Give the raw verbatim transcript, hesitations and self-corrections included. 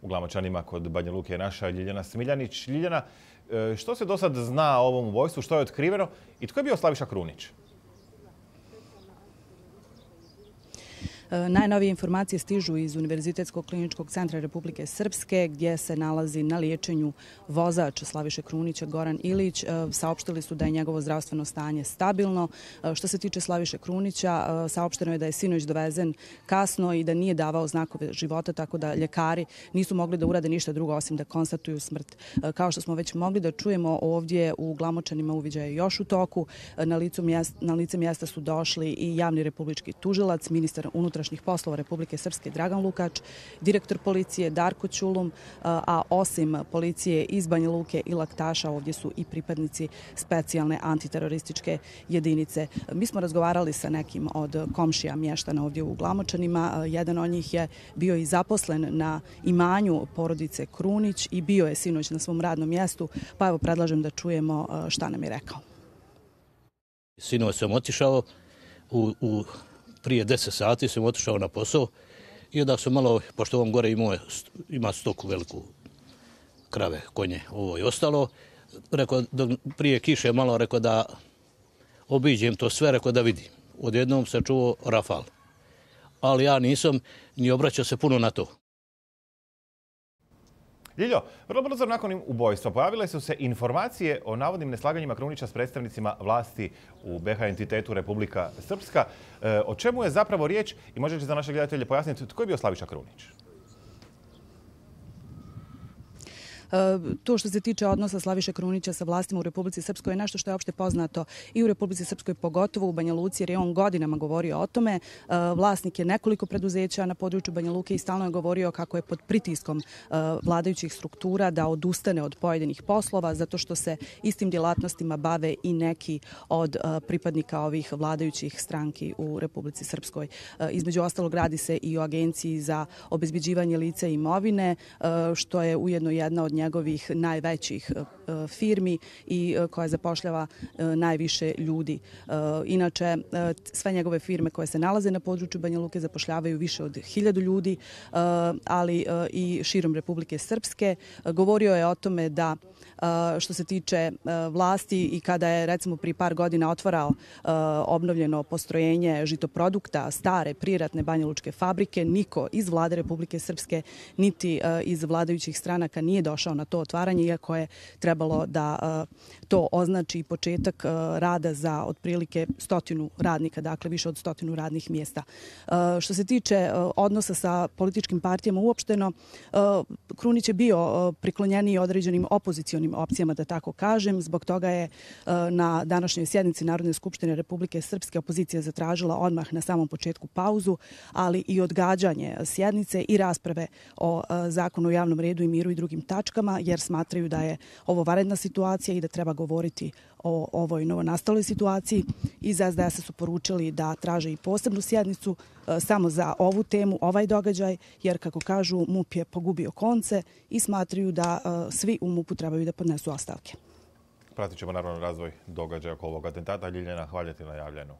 u Glamočanima kod Banja Luke je naša Ljiljana Smiljanić. Ljiljana, što se do sad zna o ovom ubojstvu, što je otkriveno i tko je bio Slaviša Krunić? Najnovije informacije stižu iz Univerzitetskog kliničkog centra Republike Srpske, gdje se nalazi na liječenju vozač Slaviše Krunića, Goran Ilić. Saopštili su da je njegovo zdravstveno stanje stabilno. Što se tiče Slaviše Krunića, saopšteno je da je sinoć dovezen kasno i da nije davao znakove života, tako da ljekari nisu mogli da urade ništa drugo osim da konstatuju smrt. Kao što smo već mogli da čujemo, ovdje u Glamočanima uviđaj je još u toku. Na, licu mjesta, na lice mjesta su došli i javni republički tužilac, ministar unutrašnjih poslova Republike Srpske Dragan Lukač, direktor policije Darko Ćulum, a osim policije iz Banja Luke i Laktaša ovdje su i pripadnici specijalne antiterorističke jedinice. Mi smo razgovarali sa nekim od komšija mještana ovdje u Glamočanima. Jedan od njih je bio i zaposlen na imanju porodice Krunić i bio je sinoć na svom radnom mjestu, pa evo predlažem da čujemo šta nam je rekao. Sinoć sam otišao u, u prije deset sati sam otišao na posao i onda sam malo, pošto ovom gore ima, ima stoku veliku, krave, konje, ovo je ostalo, rekao, prije kiše malo rekao da obiđem to sve, rekao da vidim. Odjednom se čuo rafal, ali ja nisam ni obraćao se puno na to. Ljiljo, vrlo brzo nakon ubojstva pojavile su se informacije o navodnim neslaganjima Krunića s predstavnicima vlasti u be ha entitetu Republika Srpska. E, o čemu je zapravo riječ i možete za naše gledatelje pojasniti tko je bio Slaviša Krunić? To što se tiče odnosa Slaviše Krunića sa vlastima u Republici Srpskoj je nešto što je opšte poznato i u Republici Srpskoj, pogotovo u Banja Luci, jer je on godinama govorio o tome. Vlasnik je nekoliko preduzeća na području Banja Luke i stalno je govorio kako je pod pritiskom vladajućih struktura da odustane od pojedinih poslova, zato što se istim djelatnostima bave i neki od pripadnika ovih vladajućih stranki u Republici Srpskoj. Između ostalog, radi se i o Agenciji za obezbeđivanje lica i imovine, što je ujedno jedna od njegovih najvećih firmi i koja zapošljava najviše ljudi. Inače, sve njegove firme koje se nalaze na području Banja Luke zapošljavaju više od hiljadu ljudi, ali i širom Republike Srpske. Govorio je o tome da što se tiče vlasti i kada je recimo prije par godina otvarao obnovljeno postrojenje žitoprodukta stare priratne banjalučke fabrike, niko iz vlade Republike Srpske niti iz vladajućih stranaka nije došao na to otvaranje, iako je trebalo da to označi početak rada za otprilike stotinu radnika, dakle više od stotinu radnih mjesta. Što se tiče odnosa sa političkim partijama uopšteno, Krunić je bio priklonjeniji određenim opozicionim opcijama, da tako kažem. Zbog toga je na današnjoj sjednici Narodne skupštine Republike Srpske opozicija zatražila odmah na samom početku pauzu, ali i odgađanje sjednice i rasprave o zakonu o javnom redu i miru i drugim tačkama, jer smatraju da je ovo vanredna situacija i da treba govoriti o ovoj novonastaloj situaciji. Iz es de esa su poručili da traže i posebnu sjednicu samo za ovu temu, ovaj događaj, jer, kako kažu, MUP je pogubio konce i smatraju da svi u MUP-u trebaju da podnesu ostavke. Pratit ćemo naravno razvoj događaja oko ovog atentata. Ljiljana, hvala ti na javljanju.